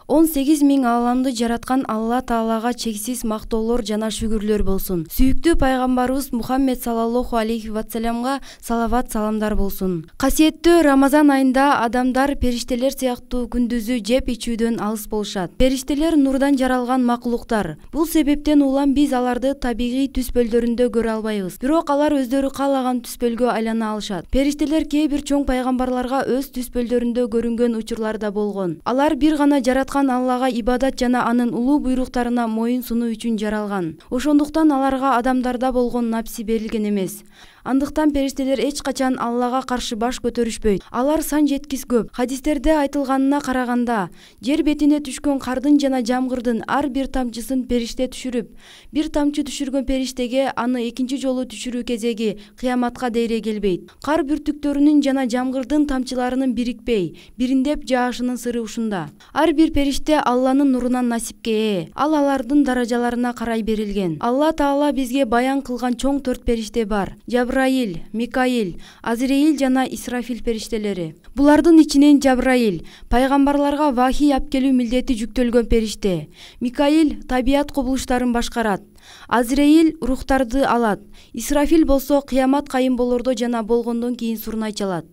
18 000 ааламды жараткан Алла Таалага чексиз мактоолор жана шүгүрлөр болсун. Сүйүктүү пайгамбарыбыз Мухаммед саллаллаху алейхи вассаламга салават саламдар болсун. Касиеттүү Рамазан айында адамдар периштелер сыяктуу күндүзү жеп ичүүдөн алыс болушат. Периштелер нурдан жаралган макулуктар. Бул себептен улам биз аларды табигый түспөлдөрүндө көрө албайбыз. Бирок алар өздөрү каалаган түспөлгө айлана алышат. Периштелер кээ бир чоң пайгамбарларга өз түспөлдөрүндө көрүнгөн учурлар да болгон. Алар бир гана жараткан Аллага ибадат жана анын улуу буйруктарына моюн сунуу үчүн жаралган. Ошондуктан аларга адамдарда болгон напси берилген эмес. Андыктан периштелер эч качан Аллага каршы баш көтөрүшпөйт. Алар сан жеткис көп. Хадистерде айтылганына караганда, жер бетине түшкөн кардын жана жамгырдын ар бир тамчысын периште түшүрүп, бир тамчы түшүргөн периштеге аны экинчи жолу түшүрүү кезеги кыяматка дейре келбейт. Кар бүртүктөрүнүн жана жамгырдын тамчыларынын бирикпей, бириндеп жаашынын сыры ушунда. Ар бир периште Алланын нурунан насипке ээ. Ал алардын даражаларына карай берилген. Алла Таала бизге баян кылган чоң 4 периште бар. Жабраил, Микаил, Азраил жана Исрафил периштелери. Булардын ичинен Жабраил пайгамбарларга вахий алып милдети жүктөлгөн периште. Микаил табият кубулуштарын башкарат. Азраил рухтарды алат. Исрафил болсо кыямат кайым болордо жана болгондон кийин сурнай чалат.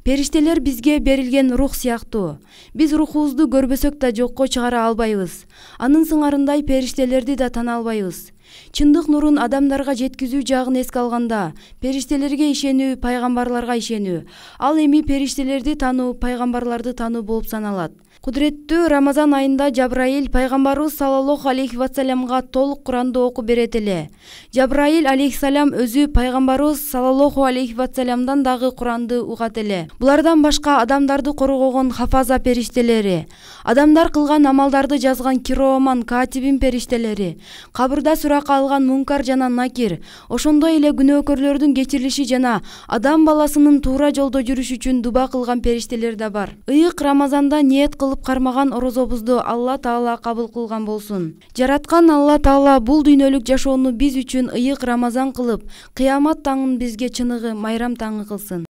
Периштелер бизге берилген рух сыяктуу. Биз рухубузду көрбөсөк да жокко чыгара албайбыз. Анын сыңарындай периштелерди да тана албайбыз. Чындык нурун адамдарга жеткизүү жагын эске алганда, периштелерге ишенүү, пайгамбарларга ишенүү. Ал эми периштелерди тануу, пайгамбарларды тануу болуп саналат. Кудуреттүү Рамазан айында Жабраил пайгамбарыбыз саллаллаху алейхи вассаламга толук Куранды окуп берет эле. Жабраил алейхиссалам өзү пайгамбарыбыз саллаллаху алейхи вассаламдан дагы Куранды угат эле. Булардан башка адамдарды коргогон хафаза периштелери, адамдар кылган амалдарды жазган кироман катибин периштелери, кабырда суракка алган Мункар жана Накир, ошондой эле күнөөкөрлөрдүн кечирилиши жана адам баласынын туура жолдо жүрүш үчүн дуба кылган периштелер да бар. Ыйык Рамазанда ниет кылып кармаган орозобузду Алла Таала кабыл кылган болсун. Жараткан Алла Таала бул дүйнөлүк жашоону биз үчүн ыйык Рамазан кылып, кыямат таңын бизге чыныгы майрам таңы кылсын.